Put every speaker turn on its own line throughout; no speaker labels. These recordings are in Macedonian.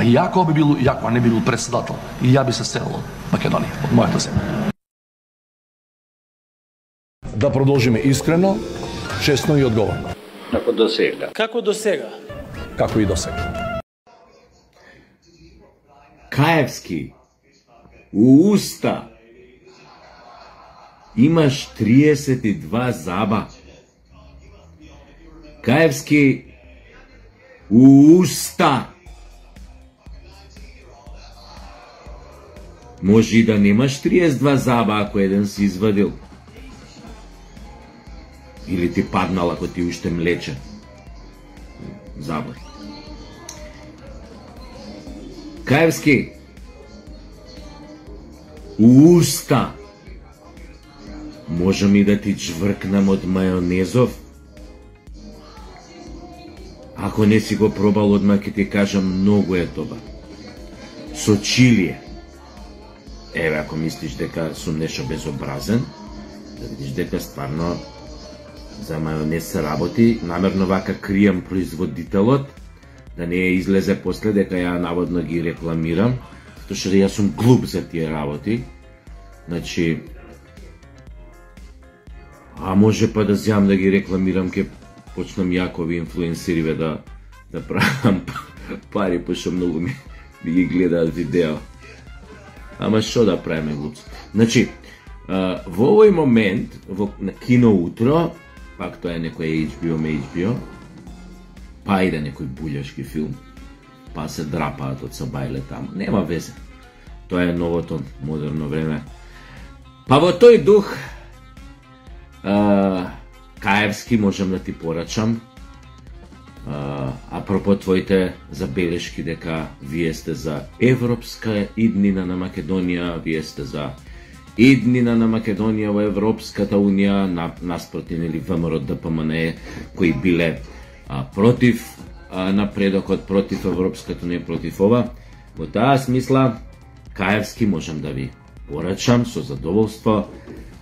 Па иако не би бил председател, и ја би се селил од Македонија, од мојата земја. Да продолжиме искрено, честно и одговорно.
Како до сега.
Како до сега.
Како и до сега.
Каевски, у уста имаш 32 заба. Каевски, у уста. Може и да немаш 32 заба ако еден си извадил. Или ти паднал ако ти уште млече. Забор. Каевски, у уста. Можам и да ти чвркнам од мајонезов. Ако не си го пробал одма, ќе ти кажам, многу е добар. Со чилие. Еве, ако мислиш дека сум нешто безобразен, да видиш дека стварно за мајонез се работи, намерно вака кријам производителот, да не излезе после дека ја наводно ги рекламирам, затоа што јас сум глуп за тие работи. Значи, а може па да зјам да ги рекламирам, ке почнам јакови инфлуенсериве да правам пари, пошто многу ми ги гледаат видео. Ама што да правиме, глупци? Значи, во овој момент, на Кино утро, пак тоа е некој HBO, па и да некој булјашки филм, па се драпаат од сабајле таму. Нема везе. Тоа е новото модерно време. Па во тој дух, Каевски, можам да ти порачам, апропо твоите забелешки дека вие сте за европска иднина на Македонија, вие сте за иднина на Македонија во Европската унија, наспроти нели ВМРО ДПМН кои биле против напредокот, против Европската унија, против ова. Во таа смисла, Каевски, можам да ви порачам со задоволство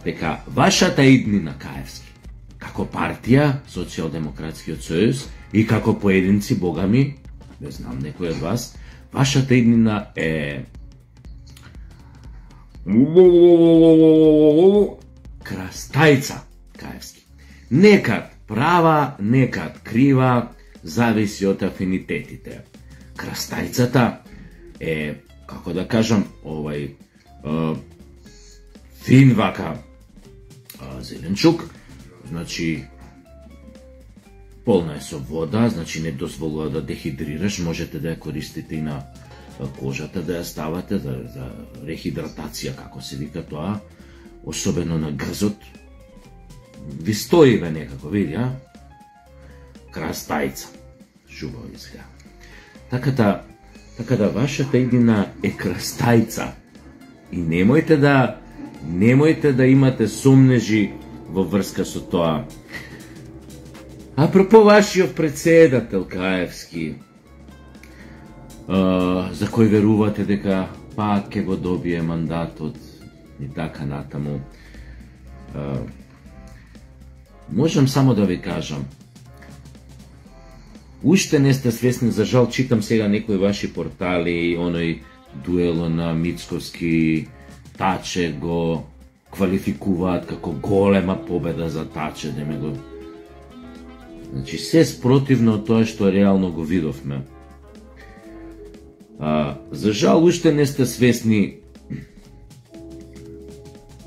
дека вашата иднина, Каевски, како партија, Социјалдемократскиот сојуз, и како поединци, богами, не знам некој од вас, вашата иднина е крастајца, Каевски. Некад права, некад крива, зависи од афинитетите. Крастајцата е, како да кажам, фин вака зеленчук, значи полна е со вода, значи не дозволува да дехидрираш, можете да ја користите и на кожата, да ја ставате за рехидратација, како се вика тоа, особено на грзот. Ви стоиве некако, види, а? Крастајца. Жубаво изгледа. Така да вашата иднина е крастајца. И немојте да имате сомнежи во врска со тоа. Апропо вашиот председател Каевски, за кој верувате дека пак ќе го добие мандатот и така натаму, можам само да ви кажам, уште не сте свесни, за жал читам сега некои ваши портали, оној дуело на Мицковски, Таче го квалификуваат како голема победа за Таче, да ме го... Значи, се спротивно од тоа што реално го видовме. За жал, уште не сте свесни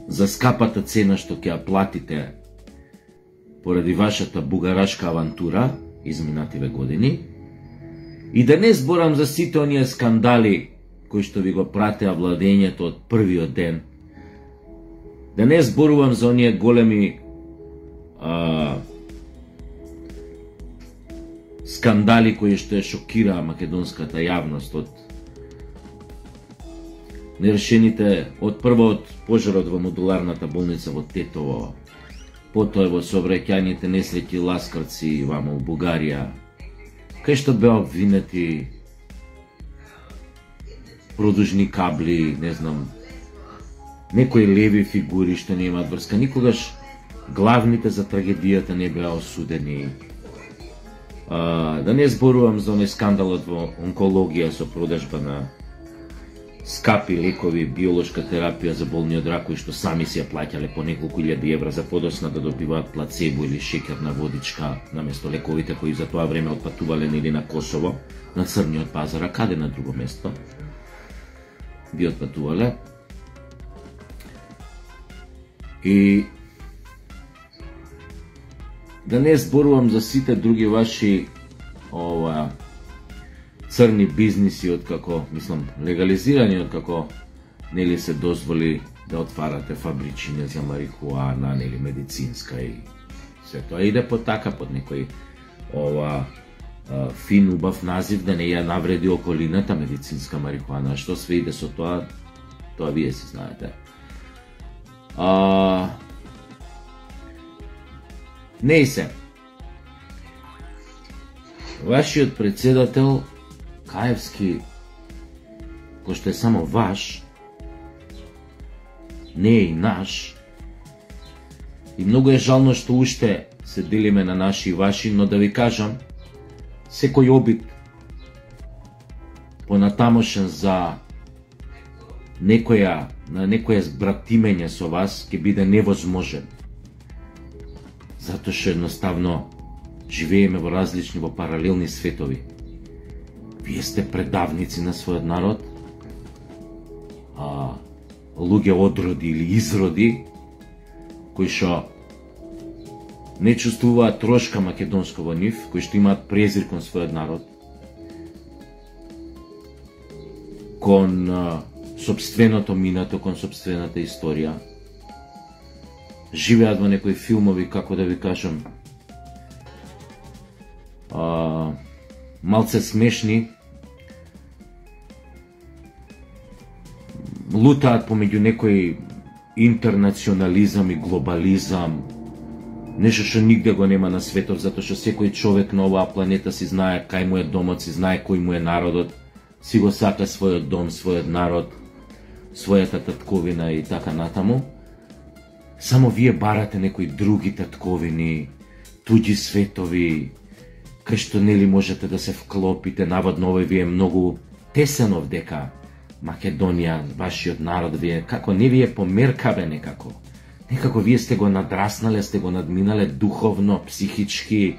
за скапата цена што ќе ја платите поради вашата бугарашка авантура изминативе години. И да не зборам за сите оние скандали кои што ви го пратеа владењето од првиот ден. Да не зборувам за оние големи скандали кои што ја шокираа македонската јавност од нерешените, од прво од пожарот во модуларната болница во Тетово, потоа во сообраќајните несреќи Ласкарци вамо во Бугарија, кај што беа обвинети продужни кабли, не знам, некои леви фигури што немаат врска. Никогаш главните за трагедијата не беа осудени. Да не зборувам за оној скандалот во онкологија со продажба на скапи лекови, биолошка терапија за болни од рак, кои што сами си ја плаќале по неколку илјади евра за подосна да добиваат плацебо или шеќерна водичка наместо лековите кои за тоа време отпатувале или на Косово, на црниот пазар, а каде на друго место би отпатувале. И да не зборувам за сите други ваши црни бизниси, откако, мислам, легализирани, откако нели се дозволи да отварате фабричини за марихуана, нели медицинска и се тоа иде по така, под некој фин, убав назив, да не ја навреди околината медицинска марихуана. Што све иде со тоа, тоа вие си знаете. Не и се. Вашиот председател Каевски, кој што е само ваш, не е и наш, и многу е жално што уште се делиме на наши и ваши, но да ви кажам, секој обид понатамошен за некоја збратимење со вас ќе биде невозможен. Затоа што едноставно живееме во различни, во паралелни светови. Вие сте предавници на својот народ, луѓе одроди или изроди, кои што не чувствуваат трошка македонско во нив, кои што имаат презир кон својот народ, кон сопственото минато, кон сопствената историја, живеат во некои филмови, како да ви кажам, малце смешни, лутаат помеѓу некој интернационализам и глобализам, нешто што нигде го нема на светот, затоа што секој човек на оваа планета си знае кај му е домот, си знае кој му е народот, си го сака својот дом, својот народ, својата татковина и така натаму. Само вие барате некои други татковини, туѓи светови, кај што нели можете да се вклопите, наводно овој ви е многу тесен дека Македонија, вашиот народ, вие како не ви е померкаве некако. Некако вие сте го надраснале, сте го надминале духовно, психички,